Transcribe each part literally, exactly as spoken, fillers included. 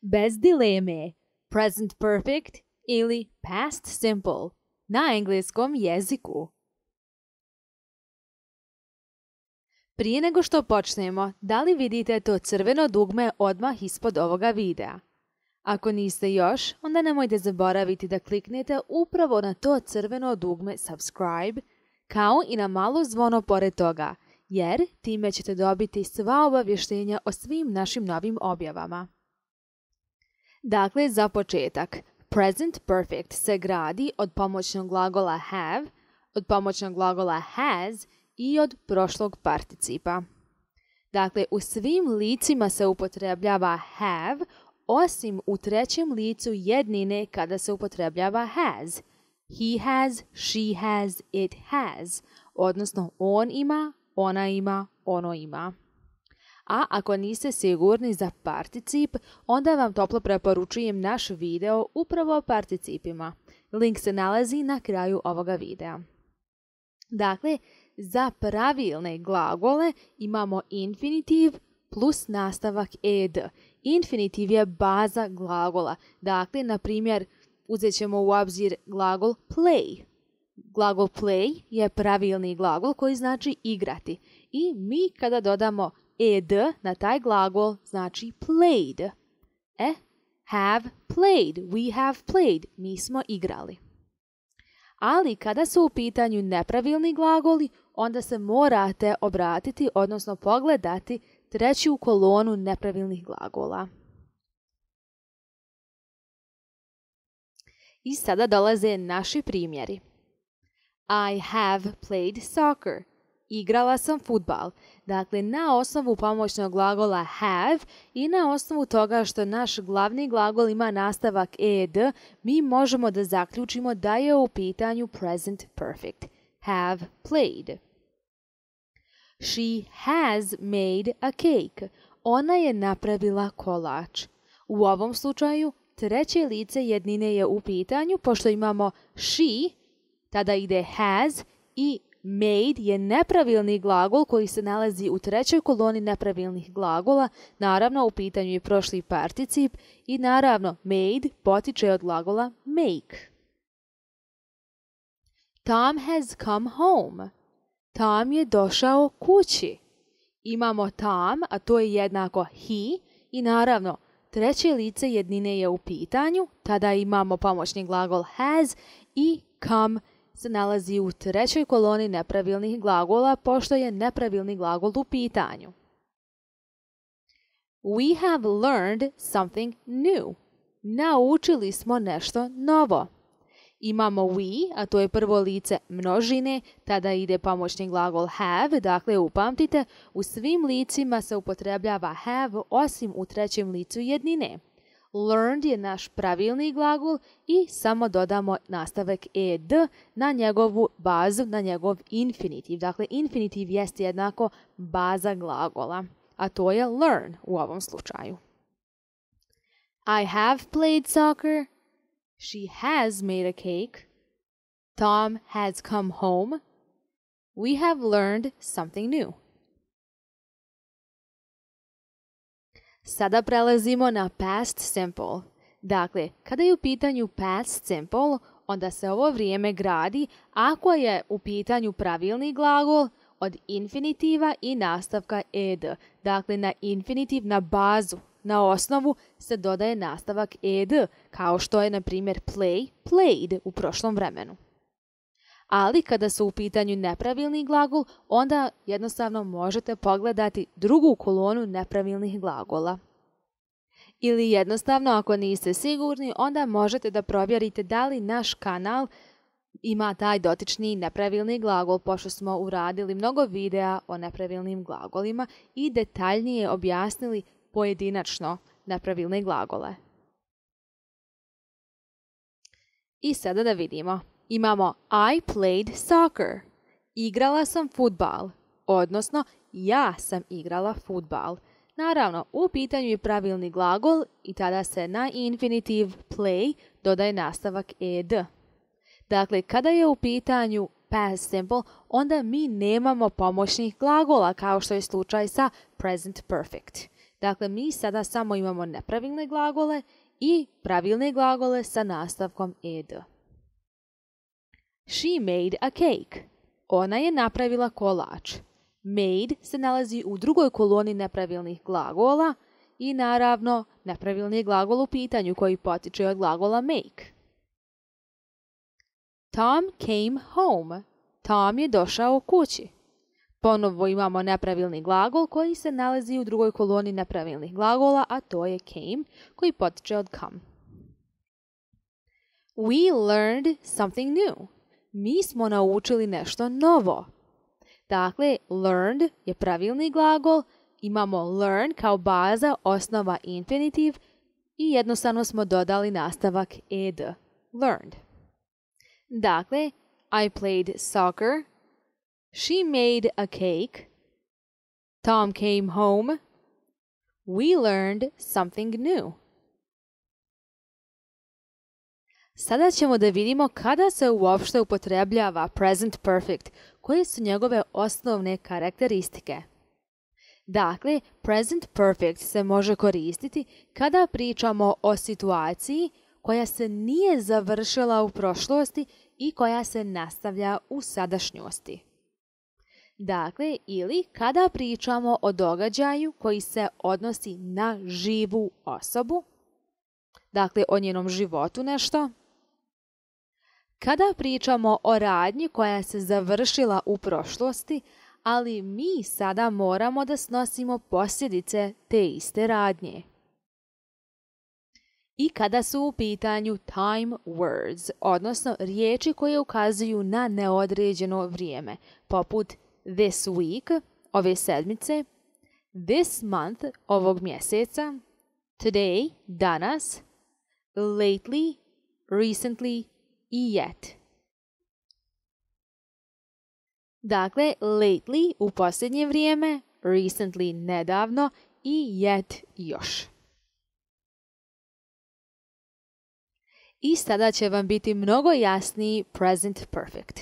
Bez dileme, present perfect ili past simple na engleskom jeziku. Prije nego što počnemo, da li vidite to crveno dugme odmah ispod ovoga videa? Ako niste još, onda nemojte zaboraviti da kliknete upravo na to crveno dugme subscribe, kao i na malo zvono pored toga, jer time ćete dobiti sva obavještenja o svim našim novim objavama. Dakle, za početak, present perfect se gradi od pomoćnog glagola have, od pomoćnog glagola has i od prošlog participa. Dakle, u svim licima se upotrebljava have, osim u trećem licu jednine kada se upotrebljava has. He has, she has, it has, odnosno on ima, ona ima, ono ima. A ako niste sigurni za particip, onda vam toplo preporučujem naš video upravo o participima. Link se nalazi na kraju ovoga videa. Dakle, za pravilne glagole imamo infinitiv plus nastavak ed. Infinitiv je baza glagola. Dakle, na primjer, uzet ćemo u obzir glagol play. Glagol play je pravilni glagol koji znači igrati. I mi kada dodamo ed na taj glagol znači played. E, have played, we have played, mi smo igrali. Ali kada su u pitanju nepravilni glagoli, onda se morate obratiti, odnosno pogledati treću kolonu nepravilnih glagola. I sada dolaze naši primjeri. I have played soccer. Igrala sam fudbal. Dakle, na osnovu pomoćnog glagola have i na osnovu toga što naš glavni glagol ima nastavak ed, mi možemo da zaključimo da je u pitanju present perfect. Have played. She has made a cake. Ona je napravila kolač. U ovom slučaju, treće lice jednine je u pitanju, pošto imamo she, tada ide has i made je nepravilni glagol koji se nalazi u trećoj koloni nepravilnih glagola, naravno u pitanju je prošli particip i naravno made potiče od glagola make. Tom has come home. Tom je došao kući. Imamo Tom, a to je jednako he i naravno treće lice jednine je u pitanju, tada imamo pomoćni glagol has i come se nalazi u trećoj koloni nepravilnih glagola, pošto je nepravilni glagol u pitanju. We have learned something new. Naučili smo nešto novo. Imamo we, a to je prvo lice množine, tada ide pomoćni glagol have, dakle upamtite, u svim licima se upotrebljava have, osim u trećem licu jednine. Learned je naš pravilni glagol i samo dodamo nastavak ed na njegovu bazu, na njegov infinitiv. Dakle, infinitiv jest jednako baza glagola, a to je learn u ovom slučaju. I have played soccer. She has made a cake. Tom has come home. We have learned something new. Sada prelazimo na past simple. Dakle, kada je u pitanju past simple, onda se ovo vrijeme gradi ako je u pitanju pravilni glagol od infinitiva i nastavka ed. Dakle, na infinitiv, na bazu, na osnovu se dodaje nastavak ed, kao što je, na primjer, play, played u prošlom vremenu. Ali kada su u pitanju nepravilni glagol, onda jednostavno možete pogledati drugu kolonu nepravilnih glagola. Ili jednostavno, ako niste sigurni, onda možete da provjerite da li naš kanal ima taj dotični nepravilni glagol, pošto smo uradili mnogo videa o nepravilnim glagolima i detaljnije objasnili pojedinačno nepravilne glagole. I sada da vidimo. Imamo I played soccer. Igrala sam fudbal. Odnosno, ja sam igrala fudbal. Naravno, u pitanju je pravilni glagol i tada se na infinitiv play dodaje nastavak ed. Dakle, kada je u pitanju past simple, onda mi nemamo pomoćnih glagola kao što je slučaj sa present perfect. Dakle, mi sada samo imamo nepravilne glagole i pravilne glagole sa nastavkom ed. She made a cake. Ona je napravila kolač. Made se nalazi u drugoj koloni nepravilnih glagola i naravno nepravilni glagol u pitanju koji potiče od glagola make. Tom came home. Tom je došao kući. Ponovo imamo nepravilni glagol koji se nalazi u drugoj koloni nepravilnih glagola, a to je came koji potiče od come. We learned something new. Mi smo naučili nešto novo. Dakle, learned je pravilni glagol, imamo learn kao baza, osnova infinitiv i jednostavno smo dodali nastavak ed, learned. Dakle, I played soccer, she made a cake, Tom came home, we learned something new. Sada ćemo da vidimo kada se uopšte upotrebljava present perfect, koje su njegove osnovne karakteristike. Dakle, present perfect se može koristiti kada pričamo o situaciji koja se nije završila u prošlosti i koja se nastavlja u sadašnjosti. Dakle, ili kada pričamo o događaju koji se odnosi na živu osobu, dakle o njenom životu nešto. Kada pričamo o radnji koja se završila u prošlosti, ali mi sada moramo da snosimo posljedice te iste radnje. I kada su u pitanju time words, odnosno riječi koje ukazuju na neodređeno vrijeme, poput this week, ove sedmice, this month, ovog mjeseca, today, danas, lately, recently i yet. Dakle, lately u posljednje vrijeme, recently nedavno i yet još. I sada će vam biti mnogo jasniji present perfect.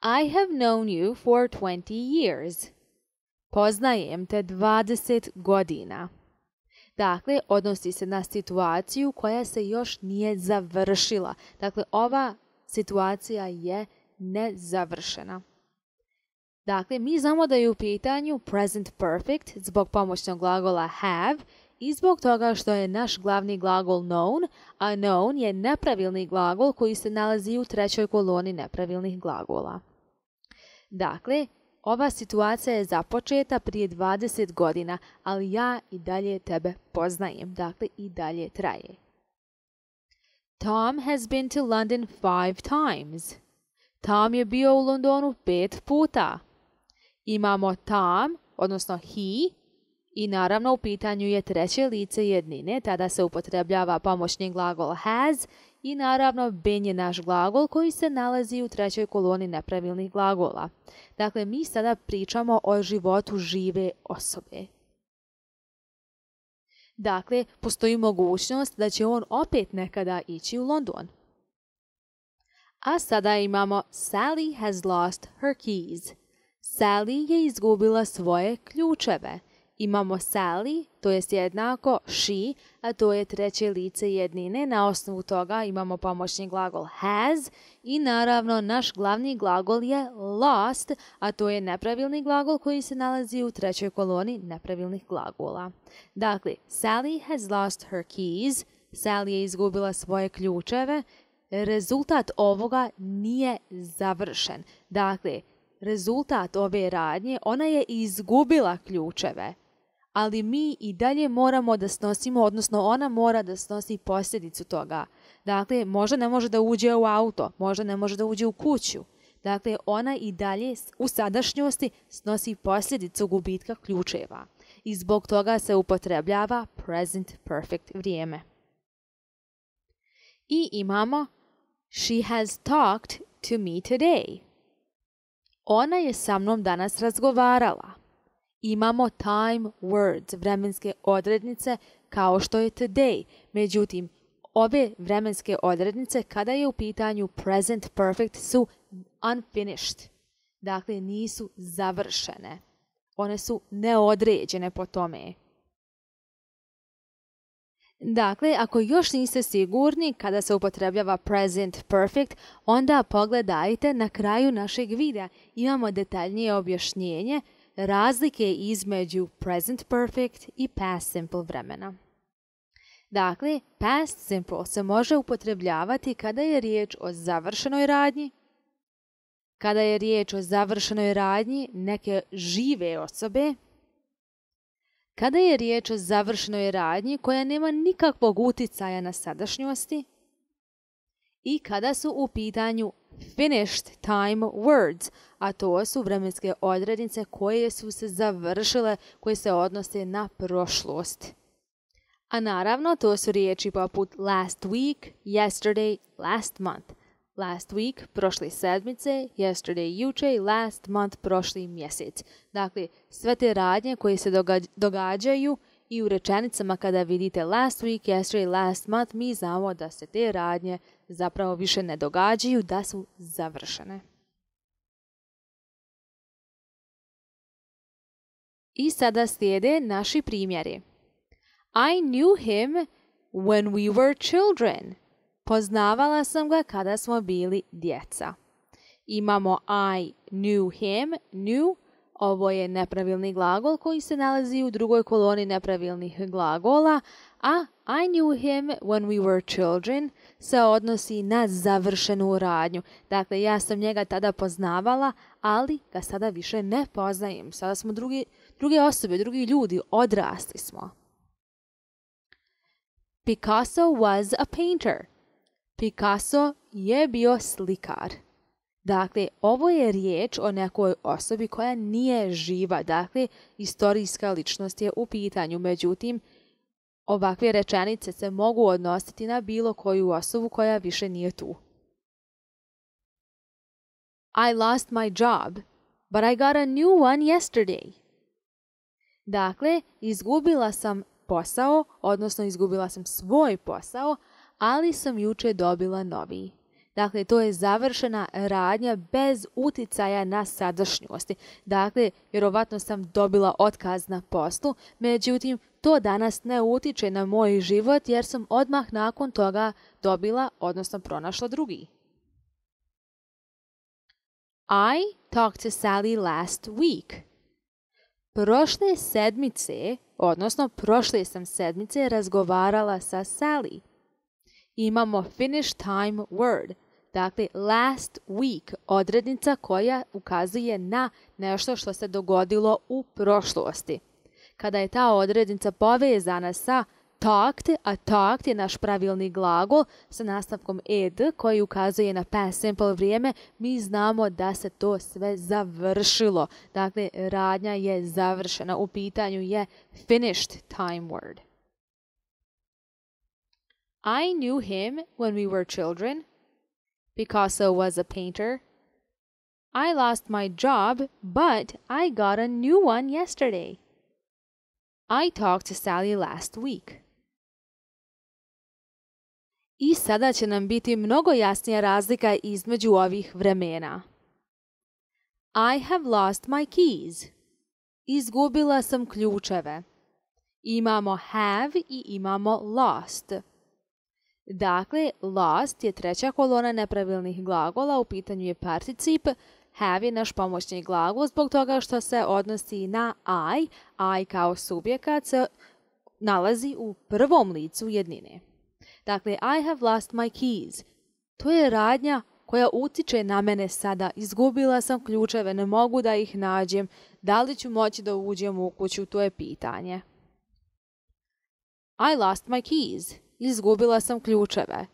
I have known you for twenty years. Poznajem te dvadeset godina. Dakle, odnosi se na situaciju koja se još nije završila. Dakle, ova situacija je nezavršena. Dakle, mi znamo da je u pitanju present perfect zbog pomoćnog glagola have i zbog toga što je naš glavni glagol known, a known je nepravilni glagol koji se nalazi u trećoj koloni nepravilnih glagola. Dakle, ova situacija je započeta prije dvadeset godina, ali ja i dalje tebe poznajem, dakle i dalje traje. Tom has been to London five times. Tom je bio u Londonu pet puta. Imamo Tom, odnosno he, i naravno u pitanju je treće lice jednine, tada se upotrebljava pomoćni glagol has i naravno been je naš glagol koji se nalazi u trećoj koloni nepravilnih glagola. Dakle, mi sada pričamo o životu žive osobe. Dakle, postoji mogućnost da će on opet nekada ići u London. A sada imamo Sally has lost her keys. Sally je izgubila svoje ključeve. Imamo Sally, to jest jednako she, a to je treće lice jednine. Na osnovu toga imamo pomoćni glagol has i naravno naš glavni glagol je lost, a to je nepravilni glagol koji se nalazi u trećoj koloni nepravilnih glagola. Dakle, Sally has lost her keys. Sally je izgubila svoje ključeve. Rezultat ovoga nije završen. Dakle, rezultat ove radnje, ona je izgubila ključeve, ali mi i dalje moramo da snosimo, odnosno ona mora da snosi posljedicu toga. Dakle, možda ne može da uđe u auto, možda ne može da uđe u kuću. Dakle, ona i dalje u sadašnjosti snosi posljedicu gubitka ključeva. I zbog toga se upotrebljava present perfect vrijeme. I imamo She has talked to me today. Ona je sa mnom danas razgovarala. Imamo time words, vremenske odrednice kao što je today. Međutim, ove vremenske odrednice kada je u pitanju present perfect su unfinished. Dakle, nisu završene. One su neodređene po tome. Dakle, ako još niste sigurni kada se upotrebljava present perfect, onda pogledajte na kraju našeg videa. Imamo detaljnije objašnjenje razlike između present perfect i past simple vremena. Dakle, past simple se može upotrebljavati kada je riječ o završenoj radnji, kada je riječ o završenoj radnji neke žive osobe, kada je riječ o završenoj radnji koja nema nikakvog uticaja na sadašnjosti i kada su u pitanju finished time words, a to su vremenske odrednice koje su se završile, koje se odnose na prošlost. A naravno, to su riječi poput last week, yesterday, last month. Last week, prošle sedmice, yesterday, juče, last month, prošli mjesec. Dakle, sve te radnje koje se događaju i u rečenicama kada vidite last week, yesterday, last month, mi znamo da se te radnje zapravo više ne događaju, da su završene. I sada slijede naši primjeri. I knew him when we were children. Poznavala sam ga kada smo bili djeca. Imamo I knew him, knew. Ovo je nepravilni glagol koji se nalazi u drugoj koloni nepravilnih glagola, a I knew him when we were children se odnosi na završenu radnju. Dakle, ja sam njega tada poznavala, ali ga sada više ne poznajem. Sada smo drugi, druge osobe, drugi ljudi, odrasli smo. Picasso was a painter. Picasso je bio slikar. Dakle, ovo je riječ o nekoj osobi koja nije živa. Dakle, istorijska ličnost je u pitanju. Međutim, ovakve rečenice se mogu odnositi na bilo koju osobu koja više nije tu. I lost my job, but I got a new one yesterday. Dakle, izgubila sam posao, odnosno izgubila sam svoj posao, ali sam juče dobila novi. Dakle, to je završena radnja bez uticaja na sadašnjosti. Dakle, vjerovatno sam dobila otkaz na poslu, međutim, to danas ne utiče na moj život jer sam odmah nakon toga dobila, odnosno pronašla drugi. I talked to Sally last week. Prošle sedmice, odnosno prošle sam sedmice razgovarala sa Sally. Imamo finished time word, dakle last week, odrednica koja ukazuje na nešto što se dogodilo u prošlosti. Kada je ta odrednica povezana sa talked, a talked je naš pravilni glagol sa nastavkom ed koji ukazuje na past simple vrijeme, mi znamo da se to sve završilo. Dakle, radnja je završena. U pitanju je finished time word. I knew him when we were children. Picasso was a painter. I lost my job, but I got a new one yesterday. I talked to Sally last week. I sada će nam biti mnogo jasnija razlika između ovih vremena. I have lost my keys. Izgubila sam ključeve. Imamo have i imamo lost. Dakle, lost je treća kolona nepravilnih glagola, u pitanju je particip, have je naš pomoćni glagol zbog toga što se odnosi na I, I kao subjekat se nalazi u prvom licu jednine. Dakle, I have lost my keys. To je radnja koja utiče na mene sada. Izgubila sam ključeve, ne mogu da ih nađem. Da li ću moći da uđem u kuću, to je pitanje. I lost my keys. Izgubila sam ključeve.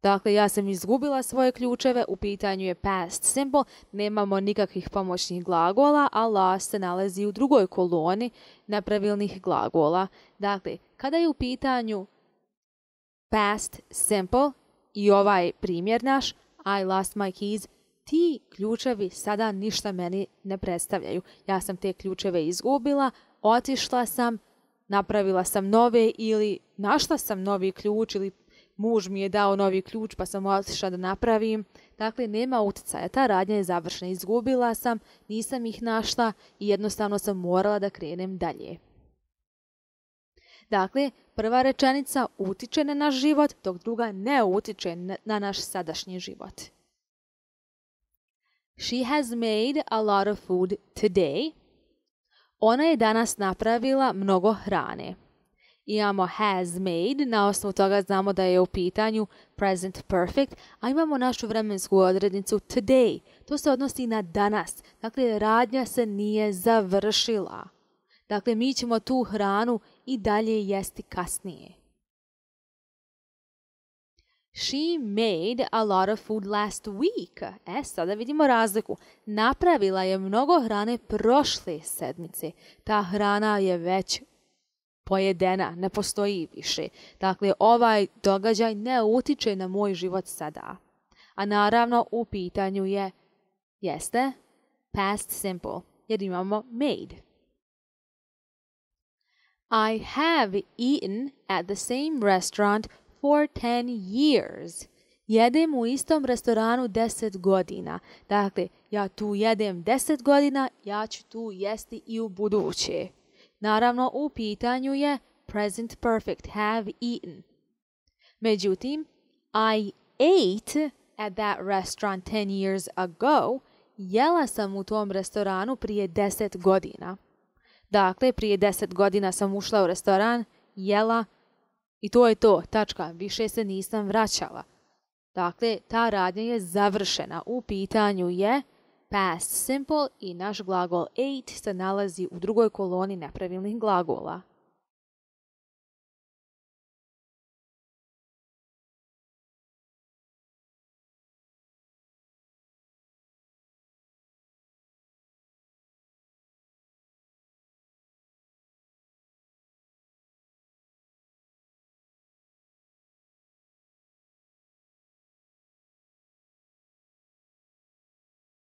Dakle, ja sam izgubila svoje ključeve, u pitanju je past simple, nemamo nikakvih pomoćnih glagola, a lost se nalazi u drugoj koloni nepravilnih glagola. Dakle, kada je u pitanju past simple i ovaj primjer naš, I lost my keys, ti ključevi sada ništa meni ne predstavljaju. Ja sam te ključeve izgubila, otišla sam, napravila sam nove ili našla sam novi ključ ili muž mi je dao novi ključ pa sam otišla da napravim. Dakle, nema uticaja. Ta radnja je završena. Izgubila sam, nisam ih našla i jednostavno sam morala da krenem dalje. Dakle, prva rečenica utiče na naš život, dok druga ne utiče na naš sadašnji život. She has made a lot of food today. Ona je danas napravila mnogo hrane. Imamo has made, na osnovu toga znamo da je u pitanju present perfect, a imamo našu vremensku odrednicu today. To se odnosi na danas. Dakle, radnja se nije završila. Dakle, mi ćemo tu hranu i dalje jesti kasnije. She made a lot of food last week. E, sada vidimo razliku. Napravila je mnogo hrane prošle sedmice. Ta hrana je već pojedena, ne postoji više. Dakle, ovaj događaj ne utiče na moj život sada. A naravno, u pitanju je, jeste, past simple, jer imamo made. I have eaten at the same restaurant for ten years. Jedem u istom restoranu deset godina. Dakle, ja tu jedem deset godina, ja ću tu jesti i u buduće. Naravno, u pitanju je present perfect, have eaten. Međutim, I ate at that restaurant ten years ago. Jela sam u tom restoranu prije deset godina. Dakle, prije deset godina sam ušla u restoran, jela i to je to, tačka, više se nisam vraćala. Dakle, ta radnja je završena. U pitanju je past simple i naš glagol ate se nalazi u drugoj koloni nepravilnih glagola.